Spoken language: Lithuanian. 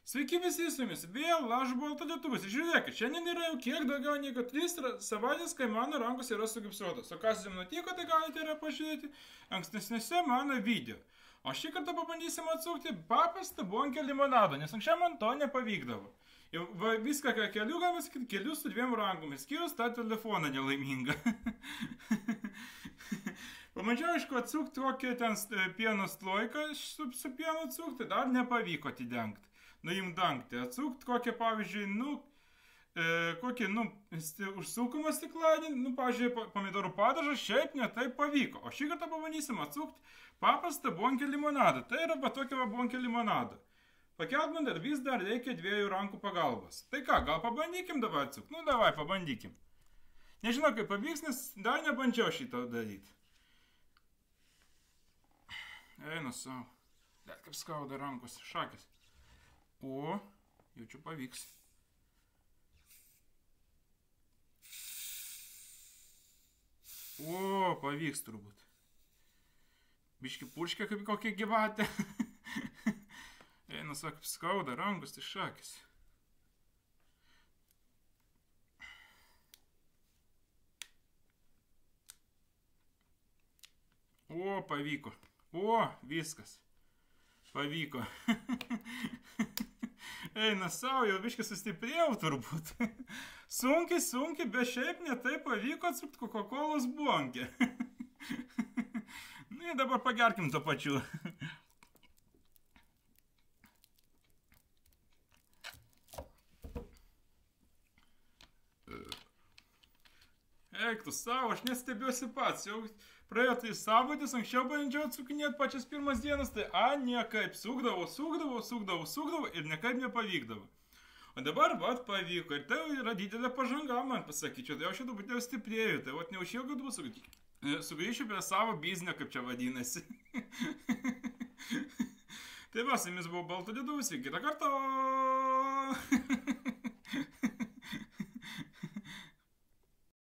Sveiki visi su jumis, vėl aš Balto Lietuvas. Ir žiūrėkit, šiandien yra jau kiek daugiau negu 3 savaitės, kai mano rankos yra sugipsuotos. O kas jums nutiko, tai galite yra pažiūrėti ankstesnėse mano video. O šį kartą pabandysim atsukti paprastą bonkę limonadą, nes anksčiau man to nepavykdavo. Jau viską, ką keliu, galima sakyti, keliu su 2 rankomis, skyrus tą telefoną nelaimingą. Pamačiau, aišku, atsukti kokį ten pieno slojką su pienu atsukti, dar nepavyko atidengti. Nuimt dangtį, atsukti kokią, pavyzdžiui, kokį, užsukumą stikladį, pavyzdžiui, pomidorų padažą, šiaip netaip pavyko. O šį kartą pabandysim atsukti paprastą bonkę limonadą. Tai yra va tokia va bonkė limonadą. Pakelt man dar vis dar reikia 2 rankų pagalbos. Tai ką, gal pabandykim dabar atsukti? Davai, pabandykim. Nežinau, kaip pavyks, nes dar nebandžiau šitą daryti. Einu savo. Bet kaip skauda rankos, šakės. O, jaučiu pavyks. O, pavyks turbūt. Biški purškia kaip kokia gyvatė. Eina, sako, skauda rankos, tai šakės. O, pavyko. O, viskas. Pavyko. Eina savo, jau biškai sustiprėjau turbūt. Sunkiai, bet šiaip netai pavyko atsukti Coca-Colos bonkę. Ir dabar pagerkim to pačiu. Eik tu savo, aš nestebėsiu pats. Jau praėjo tai savaitės, anksčiau bandžiau atsukinėti pačias pirmas dienas, tai niekaip sukdavau ir niekaip nepavykdavo. O dabar, vat, pavyko. Ir tai yra didelė pažanga, man pasakyčiau. Tai aš jau dabar jau stiprėjau. Tai vat, neužilgo dabar sugrįšiu prie savo biznio, kaip čia vadinasi. Tai va, su jumis buvo Balto Lietuvas. Iki kitą kartą.